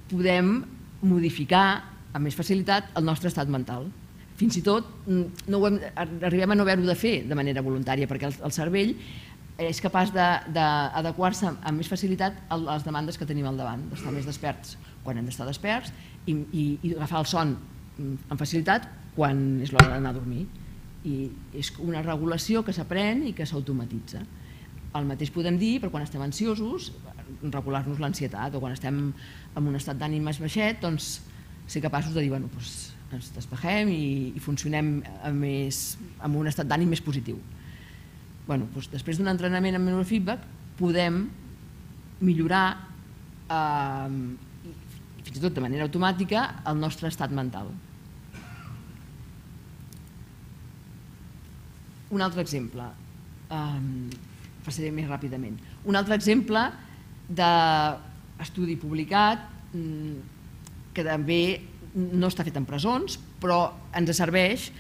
podem modificar amb més facilitat el nostre estat mental. Fins i tot arribem a no haver-ho de fer de manera voluntària, perquè el cervell és capaç d'adequar-se amb més facilitat a les demandes que tenim al davant, d'estar més desperts quan hem d'estar desperts i agafar el son amb facilitat quan és l'hora d'anar a dormir. I és una regulació que s'aprèn i que s'automatitza. El mateix podem dir per quan estem ansiosos, regular-nos l'ansietat, o quan estem en un estat d'ànim més baixet, doncs ser capaços de dir, ens despegem i funcionem amb un estat d'ànim més positiu. Després d'un entrenament amb neurofeedback podem millorar, fins i tot de manera automàtica, el nostre estat mental. Un altre exemple, passaré més ràpidament. Un altre exemple d'estudi publicat que també no està fet en presons, però ens serveix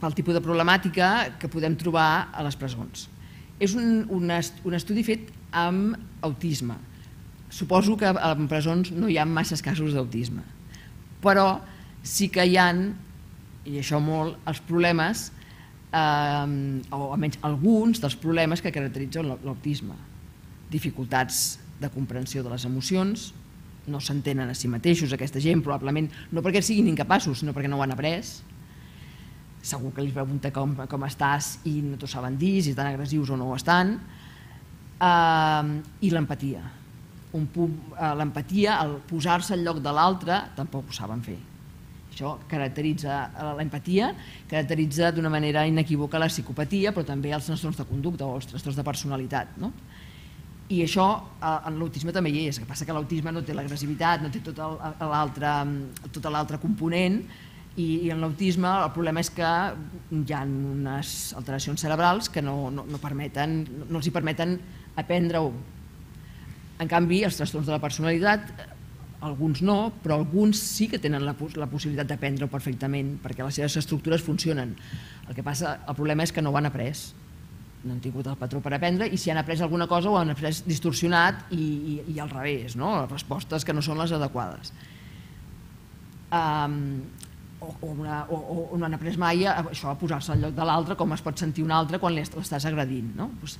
pel tipus de problemàtica que podem trobar a les presons. És un estudi fet amb autisme. Suposo que en presons no hi ha masses casos d'autisme, però sí que hi ha, i això molt, els problemes, o almenys alguns dels problemes que caracteritzen l'autisme. Dificultats de comprensió de les emocions, no s'entenen a si mateixos, aquesta gent, probablement no perquè siguin incapaços, sinó perquè no ho han après. Segur que li pregunta com estàs i no t'ho saben dir, si estan agressius o no ho estan. I l'empatia. L'empatia, el posar-se al lloc de l'altre, tampoc ho saben fer. Això caracteritza l'empatia, caracteritza d'una manera inequívoca la psicopatia, però també els trastorns de conducta o els trastorns de personalitat. I això en l'autisme també hi és, el que passa que l'autisme no té l'agressivitat, no té tot l'altre component, i en l'autisme el problema és que hi ha unes alteracions cerebrals que no els permeten aprendre-ho. En canvi, els trastorns de la personalitat, alguns no, però alguns sí que tenen la possibilitat d'aprendre-ho perfectament, perquè les seves estructures funcionen. El que passa, el problema és que no ho han après, no han tingut el patró per aprendre, i si han après alguna cosa ho han après distorsionat i al revés, les respostes que no són les adequades. O no han après mai això, a posar-se al lloc de l'altre, com es pot sentir un altre quan l'estàs agredint. Llavors,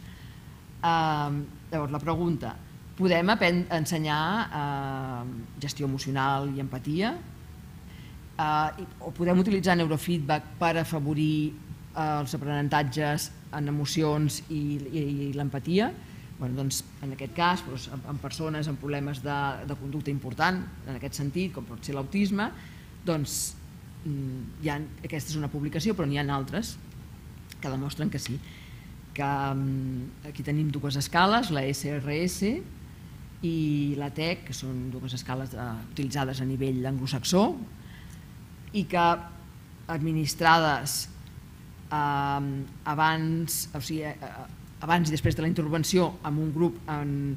la pregunta: podem ensenyar gestió emocional i empatia? O podem utilitzar neurofeedback per afavorir els aprenentatges en emocions i l'empatia? En aquest cas, en persones amb problemes de conducta important, en aquest sentit, com pot ser l'autisme, aquesta és una publicació, però n'hi ha altres que demostren que sí. Aquí tenim dues escales, la SRS i la TEC, que són dues escales utilitzades a nivell anglosaxó i que administrades abans i després de la intervenció amb un grup en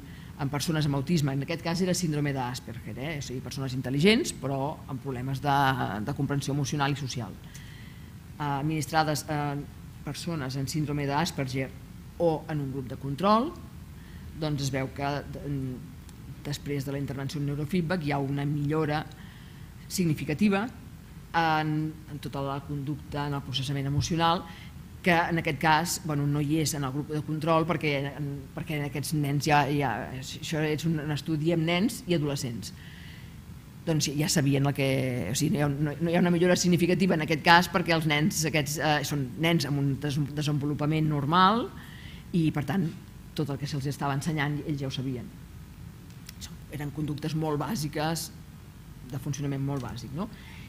persones amb autisme, en aquest cas era síndrome d'Asperger, o sigui, persones intel·ligents però amb problemes de comprensió emocional i social, administrades a persones amb síndrome d'Asperger o en un grup de control. Doncs es veu que després de la intervenció en neurofeedback hi ha una millora significativa en tota la conducta, en el processament emocional, que en aquest cas no hi és en el grup de control perquè en aquests nens això és un estudi amb nens i adolescents. Doncs ja sabien que no hi ha una millora significativa en aquest cas perquè els nens aquests són nens amb un desenvolupament normal i per tant tot el que se'ls estava ensenyant ells ja ho sabien. Eren conductes molt bàsiques, de funcionament molt bàsic.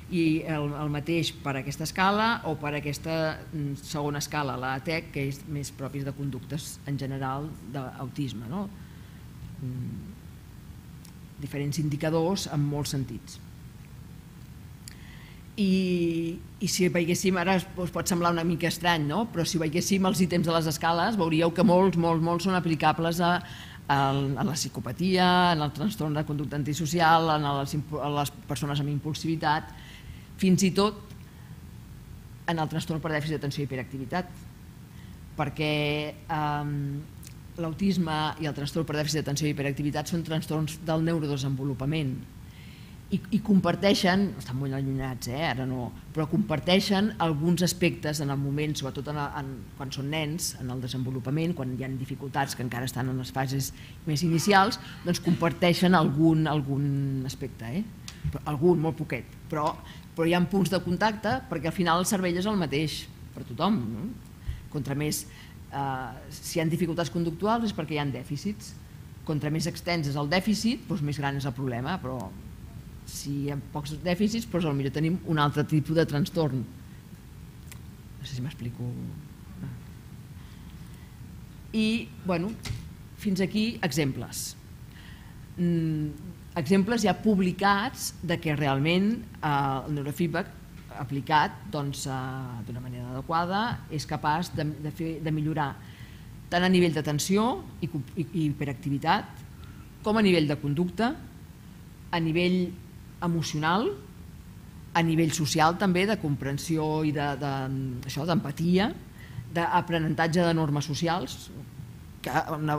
I el mateix per a aquesta escala o per a aquesta segona escala, la TEC, que és més pròpia de conductes en general d'autisme. Diferents indicadors en molts sentits. I si veiéssim, ara us pot semblar una mica estrany, però si veiéssim els ítems de les escales veuríeu que molts són aplicables a la psicopatia, en el trastorn de conducta antisocial, en les persones amb impulsivitat, fins i tot en el trastorn per dèficit d'atenció i hiperactivitat, perquè l'autisme i el trastorn per dèficit d'atenció i hiperactivitat són trastorns del neurodesenvolupament i comparteixen, estan molt allunyats ara no, però comparteixen alguns aspectes en el moment, sobretot quan són nens, en el desenvolupament, quan hi ha dificultats que encara estan en les fases més inicials, doncs comparteixen algun aspecte, algun, molt poquet, però hi ha punts de contacte perquè al final el cervell és el mateix per tothom. Contra més, si hi ha dificultats conductuals és perquè hi ha dèficits. Contra més extens és el dèficit, doncs més gran és el problema, però si hi ha pocs dèficits, doncs potser tenim un altre tipus de trastorn. No sé si m'explico. I, fins aquí exemples. Exemples ja publicats de que realment el neurofeedback aplicat d'una manera adequada és capaç de millorar tant a nivell d'atenció i hiperactivitat com a nivell de conducta, a nivell emocional, A nivell social també, de comprensió i d'empatia, d'aprenentatge de normes socials, que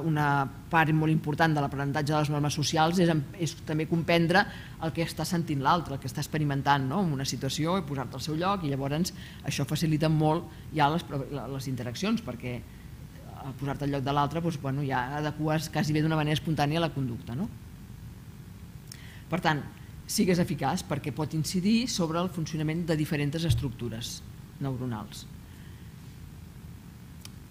una part molt important de l'aprenentatge de les normes socials és també comprendre el que està sentint l'altre, el que està experimentant en una situació i posar-te al seu lloc, i llavors això facilita molt ja les interaccions, perquè al posar-te al lloc de l'altre ja adeques quasi bé d'una manera espontània la conducta. Per tant, sigues eficaç perquè pot incidir sobre el funcionament de diferents estructures neuronals.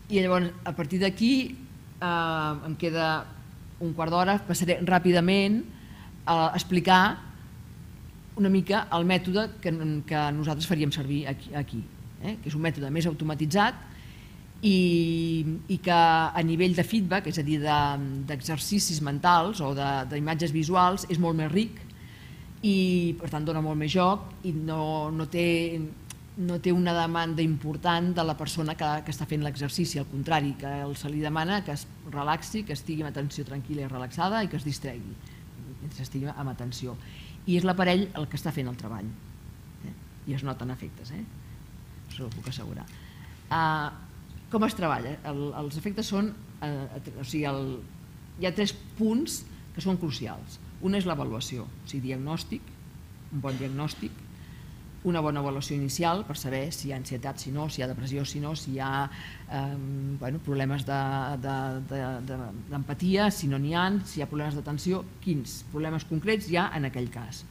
I llavors, a partir d'aquí, em queda un quart d'hora, passaré ràpidament a explicar una mica el mètode que nosaltres faríem servir aquí, que és un mètode més automatitzat i que a nivell de feedback, és a dir, d'exercicis mentals o d'imatges visuals, és molt més ric i per tant dona molt més joc i no té una demanda important de la persona que està fent l'exercici, al contrari, que se li demana que es relaxi, que estigui amb atenció tranquil·la i relaxada i que es distregui, mentre estigui amb atenció. I és l'aparell el que està fent el treball. I es noten efectes, això ho puc assegurar. Com es treballa? Els efectes són... Hi ha 3 punts que són crucials. Un és l'avaluació, o sigui, diagnòstic, un bon diagnòstic, una bona avaluació inicial per saber si hi ha ansietat, si no, si hi ha depressió, si no, si hi ha problemes d'empatia, si no n'hi ha, si hi ha problemes d'atenció, quins problemes concrets hi ha en aquell cas.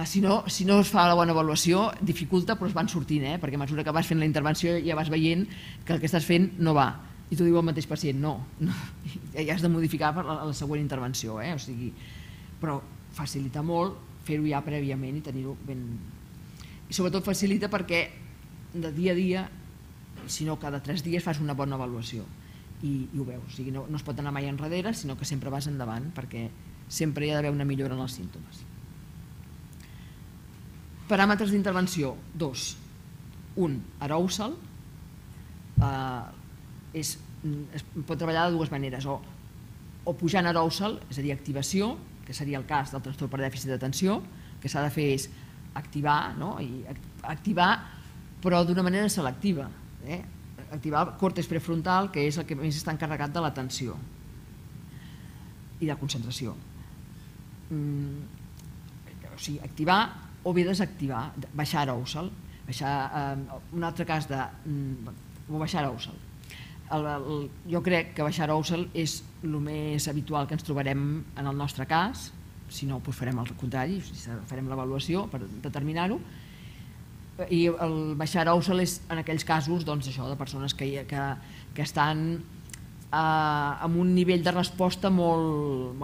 Si no es fa la bona avaluació, dificulta, però es van sortint, perquè a mesura que vas fent la intervenció ja vas veient que el que estàs fent no va. I t'ho diu el mateix pacient, no, ja has de modificar per la següent intervenció, però facilita molt fer-ho ja prèviament i tenir-ho ben... I sobretot facilita perquè de dia a dia, si no cada 3 dies, fas una bona avaluació i ho veus. O sigui, no es pot anar mai enrere, sinó que sempre vas endavant perquè sempre hi ha d'haver una millora en els símptomes. Paràmetres d'intervenció, 2. Un, arousal. Es pot treballar de 2 maneres, o pujant arousal, és a dir, activació, que seria el cas del trastorn per dèficit d'atenció, que s'ha de fer és activar, però d'una manera selectiva. Activar el còrtex prefrontal, que és el que més està encarregat de l'atenció i de la concentració. O sigui, activar o bé desactivar, baixar arousal. Un altre cas de baixar arousal. Jo crec que baixar arousal és el més habitual que ens trobarem en el nostre cas, si no farem el contrari, farem l'avaluació per determinar-ho, i el baixar arousal és en aquells casos de persones que estan amb un nivell de resposta molt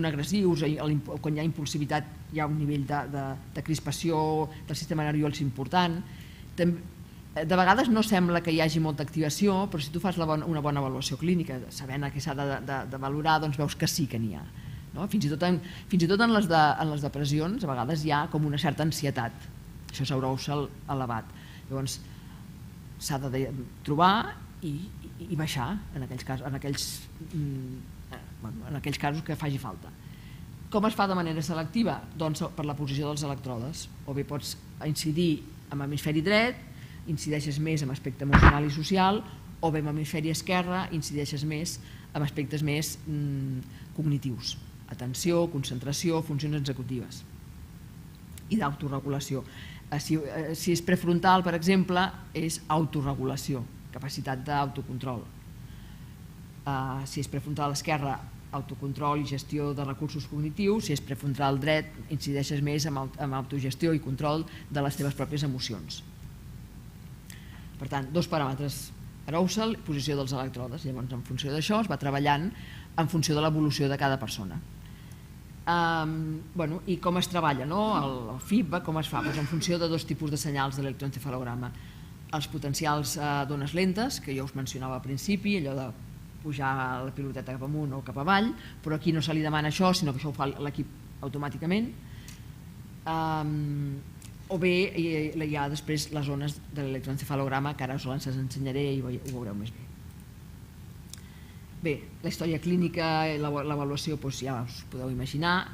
agressius, quan hi ha impulsivitat hi ha un nivell de crispació del sistema nerviós important. De vegades no sembla que hi hagi molta activació, però si tu fas una bona avaluació clínica, sabent què s'ha de valorar, doncs veus que sí que n'hi ha. Fins i tot en les depressions, a vegades hi ha com una certa ansietat. Això és arousal elevat. Llavors, s'ha de trobar i baixar en aquells casos que faci falta. Com es fa de manera selectiva? Doncs per la posició dels electrodes. O bé pots incidir amb l'hemisferi dret, incideixes més en aspecte emocional i social, o bé amb l'hemisferi esquerre incideixes més en aspectes més cognitius, atenció, concentració, funcions executives i d'autoregulació. Si és prefrontal, per exemple, és autorregulació, capacitat d'autocontrol. Si és prefrontal esquerre, autocontrol i gestió de recursos cognitius. Si és prefrontal dret, incideixes més en autogestió i control de les teves pròpies emocions. Per tant, 2 paràmetres, arousal i posició dels electrodes. Llavors, en funció d'això, es va treballant en funció de l'evolució de cada persona. I com es treballa, el feedback, com es fa? En funció de 2 tipus de senyals de l'electroencefalograma. Els potencials d'ones lentes, que jo us mencionava al principi, allò de pujar la piloteta cap amunt o cap avall, però aquí no se li demana això, sinó que això ho fa l'equip automàticament. O bé hi ha després les ones de l'electroencefalograma, que ara us les ensenyaré i ho veureu més bé. Bé, la història clínica i l'avaluació ja us podeu imaginar,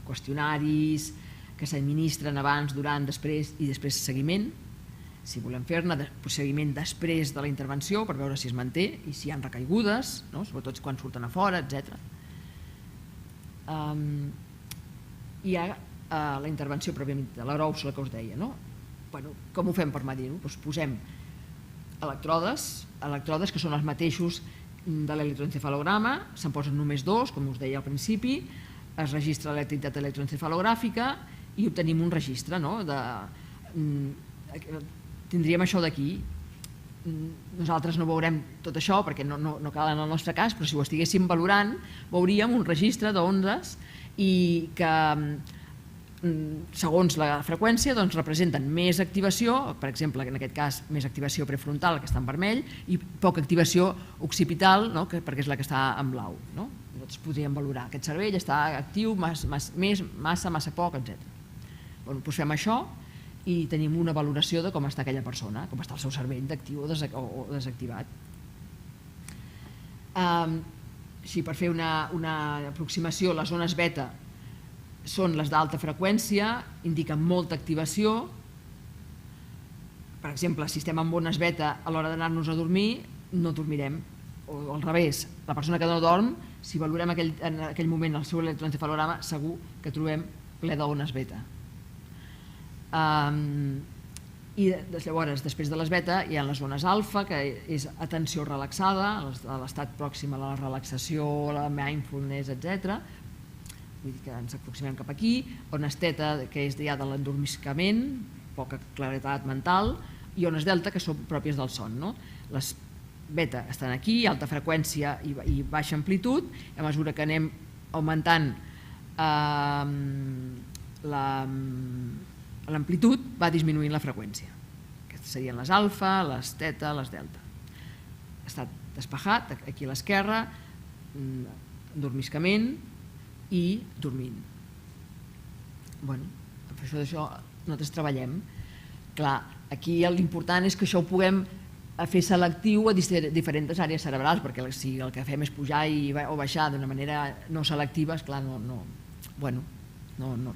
qüestionaris, que s'administren abans, durant, després i després seguiment, si volem fer-ne, seguiment després de la intervenció per veure si es manté i si hi ha recaigudes, sobretot quan surten a fora, etc. Hi ha la intervenció pròpiament de l'aeròsol que us deia. Com ho fem per medir-ho? Posem electrodes que són els mateixos de l'electroencefalograma, se'n posen només 2, com us deia al principi, es registra l'activitat electroencefalogràfica i obtenim un registre. Tindríem això d'aquí. Nosaltres no veurem tot això perquè no cal en el nostre cas, però si ho estiguéssim valorant veuríem un registre d'ondes i que segons la freqüència representen més activació, per exemple en aquest cas més activació prefrontal que està en vermell i poca activació occipital perquè és la que està en blau. Nosaltres podríem valorar aquest cervell està actiu, massa poc, etc. Doncs fem això i tenim una valoració de com està aquella persona, com està el seu cervell d'actiu o desactivat. Així, per fer una aproximació, les ones beta són les d'alta freqüència, indiquen molta activació. Per exemple, si estem amb ones beta a l'hora d'anar-nos a dormir, no dormirem. O al revés, la persona que no dorm, si valorem en aquell moment el seu electroencefalograma, segur que trobem ple d'ones beta. I llavors, després de les beta, hi ha les ones alfa, que és atenció relaxada, l'estat pròxim a la relaxació, la mindfulness, etc. Vull dir que ens aproximem cap aquí. Ones teta, que és ja de l'endormiscament, poca claretat mental, i ones delta, que són pròpies del son. Les beta estan aquí, alta freqüència i baixa amplitud. A mesura que anem augmentant l'amplitud, va disminuint la freqüència. Aquestes serien les alfa, les teta, les delta. Estat despejat, aquí a l'esquerra, endormiscament i dormint. Per això nosaltres treballem. Clar, aquí l'important és que això ho puguem fer selectiu a diferents àrees cerebrals, perquè si el que fem és pujar o baixar d'una manera no selectiva, esclar, no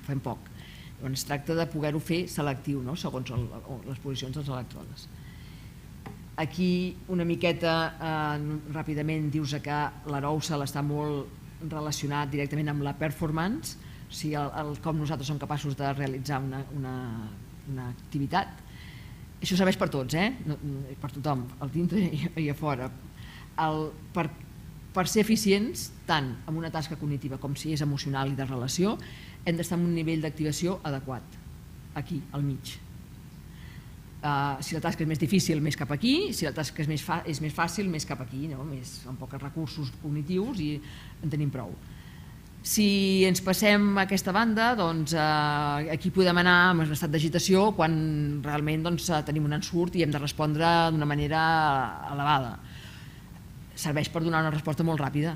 fem poc. Es tracta de poder-ho fer selectiu, segons les posicions dels elèctrodes. Aquí una miqueta ràpidament dius que l'aeròsol està molt relacionat directament amb la performance, com nosaltres som capaços de realitzar una activitat. Això serveix per tots, per tothom, al dintre i a fora. Per ser eficients, tant en una tasca cognitiva com si és emocional i de relació, hem d'estar en un nivell d'activació adequat, aquí, al mig. Si la tasca és més difícil, més cap aquí, si la tasca és més fàcil, més cap aquí, amb pocs recursos cognitius i en tenim prou. Si ens passem a aquesta banda, aquí podem anar en un estat d'agitació quan realment tenim un ensurt i hem de respondre d'una manera elevada. Serveix per donar una resposta molt ràpida.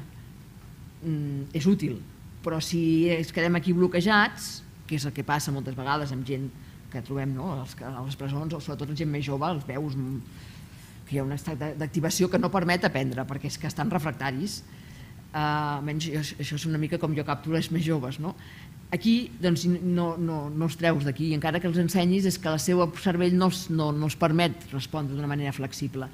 És útil, però si ens quedem aquí bloquejats, que és el que passa moltes vegades amb gent que trobem a les presons, o sobretot la gent més jove, els veus que hi ha un estat d'activació que no permet aprendre, perquè és que estan refractaris. Almenys això és una mica com jo capturo els més joves. Aquí no els treus d'aquí, i encara que els ensenyis és que el seu cervell no els permet respondre d'una manera flexible.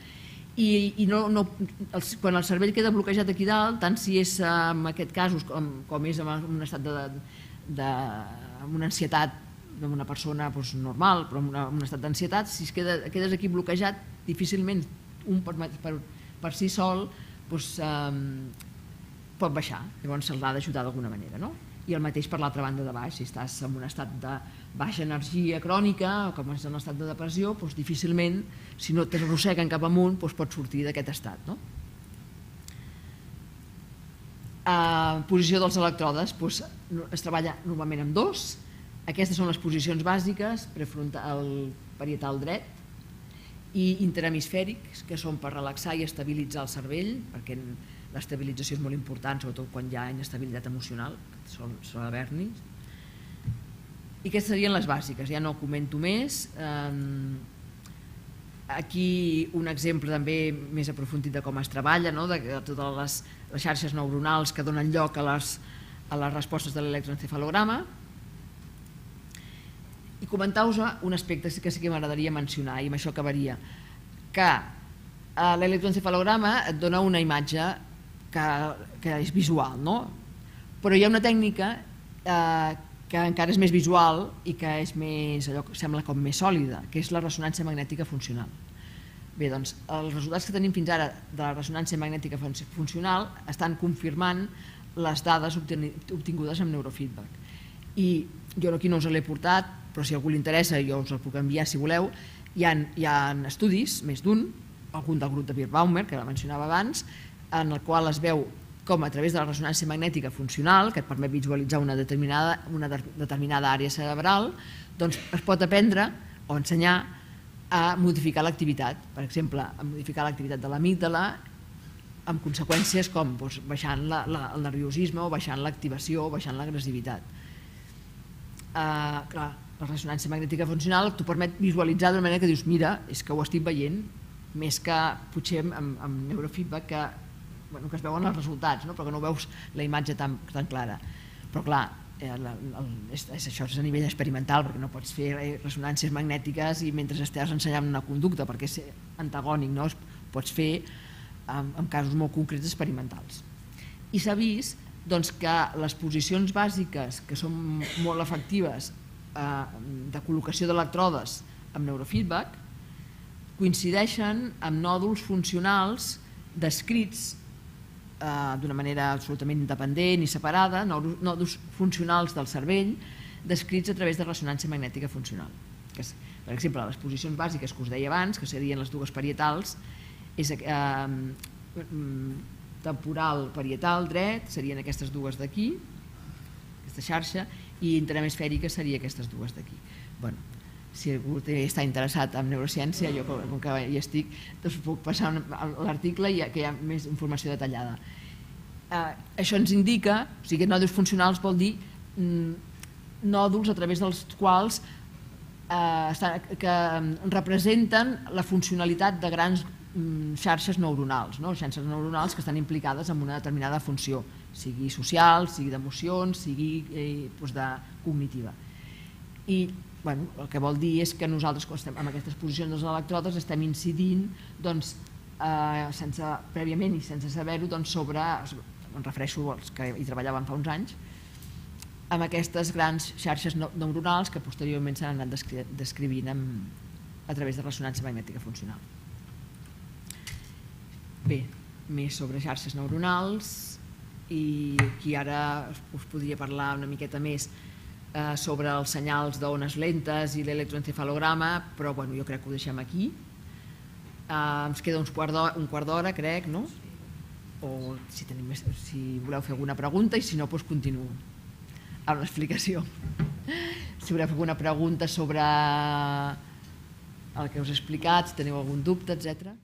I quan el cervell queda bloquejat aquí dalt, tant si és en aquest cas com és en un estat amb una ansietat d'una persona normal, però en un estat d'ansietat, si quedes aquí bloquejat, difícilment un per si sol pot baixar, llavors se'ls ha d'ajudar d'alguna manera. I el mateix per l'altra banda de baix, si estàs en un estat de baixa energia crònica o com és en un estat de depressió, difícilment, si no t'arrosseguen cap amunt, pots sortir d'aquest estat. Posició dels electrodes, es treballa normalment amb 2. Aquestes són les posicions bàsiques, prefrontal, parietal dret, i interhemisfèrics, que són per relaxar i estabilitzar el cervell, perquè l'estabilització és molt important, sobretot quan hi ha inestabilitat emocional, que sol haver-n'hi. I aquestes serien les bàsiques, ja no comento més. Aquí un exemple també més aprofundit de com es treballa, de totes les xarxes neuronals que donen lloc a les respostes de l'electroencefalograma. I comentar-vos un aspecte que sí que m'agradaria mencionar, i amb això acabaria, que l'electroencefalograma et dona una imatge que és visual, no? Però hi ha una tècnica que encara és més visual i que és més, allò que sembla com més sòlida, que és la ressonància magnètica funcional. Bé, doncs, els resultats que tenim fins ara de la ressonància magnètica funcional estan confirmant les dades obtingudes amb neurofeedback. I jo aquí no us l'he portat, però si a algú li interessa jo us el puc enviar si voleu. Hi ha estudis, més d'un, algun del grup de Birbaumer, que la mencionava abans, en el qual es veu com a través de la ressonància magnètica funcional, que et permet visualitzar una determinada àrea cerebral, doncs es pot aprendre o ensenyar a modificar l'activitat. Per exemple, a modificar l'activitat de l'amígdala amb conseqüències com baixant el nerviosisme o baixant l'activació o baixant l'agressivitat. Clar, la ressonància magnètica funcional t'ho permet visualitzar d'una manera que dius, mira, és que ho estic veient, més que potser amb neurofeedback que es veuen els resultats, però que no veus la imatge tan clara. Però clar, això és a nivell experimental, perquè no pots fer ressonàncies magnètiques i mentre estàs ensenyant una conducta, perquè és antagònic, no? Pots fer en casos molt concrets experimentals. I s'ha vist que les posicions bàsiques, que són molt efectives de col·locació d'electrodes amb neurofeedback, coincideixen amb nòduls funcionals descrits d'una manera absolutament independent i separada, nòduls funcionals del cervell descrits a través de ressonància magnètica funcional. Per exemple, les posicions bàsiques que us deia abans, que serien les dues parietals, temporal parietal dret serien aquestes dues d'aquí, aquesta xarxa, i interhemisfèrica seria aquestes dues d'aquí. Si algú està interessat en neurociència, jo com que hi estic, us puc passar l'article i que hi ha més informació detallada. Això ens indica, o sigui, nòduls funcionals vol dir nòduls a través dels quals que representen la funcionalitat de grans xarxes neuronals, xarxes neuronals que estan implicades en una determinada funció, sigui social, sigui d'emocions, sigui cognitiva. I el que vol dir és que nosaltres, amb aquestes posicions dels electrodes, estem incidint prèviament i sense saber-ho sobre, em refereixo als que hi treballaven fa uns anys, amb aquestes grans xarxes neuronals que posteriorment s'han anat descrivint a través de ressonància magnètica funcional. Bé, més sobre xarxes neuronals, i aquí ara us podria parlar una miqueta més sobre els senyals d'ones lentes i l'electroencefalograma, però jo crec que ho deixem aquí. Ens queda un quart d'hora, crec, no? O si voleu fer alguna pregunta, i si no, doncs continuo amb l'explicació. Si voleu fer alguna pregunta sobre el que us he explicat, si teniu algun dubte, etc.